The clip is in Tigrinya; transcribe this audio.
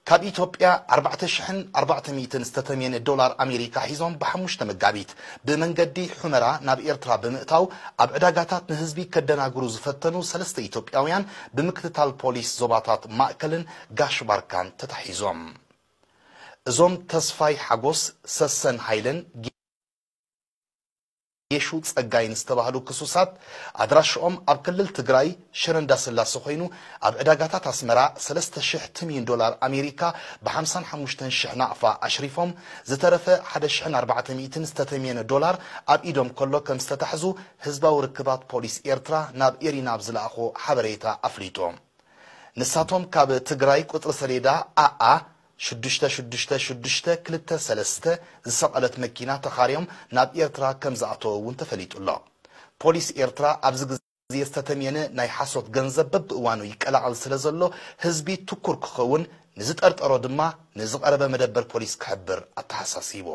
ካብ ኢትዮጵያ ኣርባዕተ ሽሕን ኣርባዕተ ሚእትን ዝተተምየነ ዶላር ኣሜሪካ ሒዞም ብሓሙሽተ መጋቢት ብመንገዲ ሑመራ ናብ ኤርትራ ብምእታው ኣብ ዕዳጋታት ንህዝቢ ከደናግሩ ዝፈተኑ ሰለስተ ኢትዮጵያውያን ብምክትታል ፖሊስ ዞባታት ማእከልን ጋሽ ባርካን ተታሒዞም። እዞም ተስፋይ ሓጎስ፣ ሰሰን ሃይለን፣ ጌሹ ጸጋይን ዝተባህሉ ክሱሳት ኣድራሽኦም ኣብ ክልል ትግራይ ሽረ እንዳስላሴ ኮይኑ ኣብ ዕዳጋታት ኣስመራ ሰለስተ ሽሕ ትምዩን ዶላር ኣሜሪካ ብ ሓምሳን ሓሙሽተን ሽሕ ናቕፋ ኣሽሪፎም ዝተረፈ ሓደ ሽሕን ኣርባዕተ ሚእትን ዝተተምየነ ዶላር ኣብ ኢዶም ከሎ ከም ዝተታሕዙ ህዝባዊ ርክባት ፖሊስ ኤርትራ ናብ ኤሪና ኣብ ዝለኣኾ ሓበሬታ ኣፍሊጡ። ንሳቶም ካብ ትግራይ ቁጽሪ ሰሌዳ ኣኣ ሽዱሽተ ሽዱሽተ ሽዱሽተ ክልተ ሰለስተ ዝሰቐለት መኪና ተኻርዮም ናብ ኤርትራ ከም ዝኣተወ እውን ተፈሊጡ ኣሎ። ፖሊስ ኤርትራ ኣብዚ ግዜ ዝተተምየነ ናይ ሓሶት ገንዘብ በብእዋኑ ይቀላቐል ስለ ዘሎ ህዝቢ ትኩር ክኸውን ንዝጠርጠሮ ድማ ንዝቐረበ መደበር ፖሊስ ክሕብር ኣተሓሳሲቡ።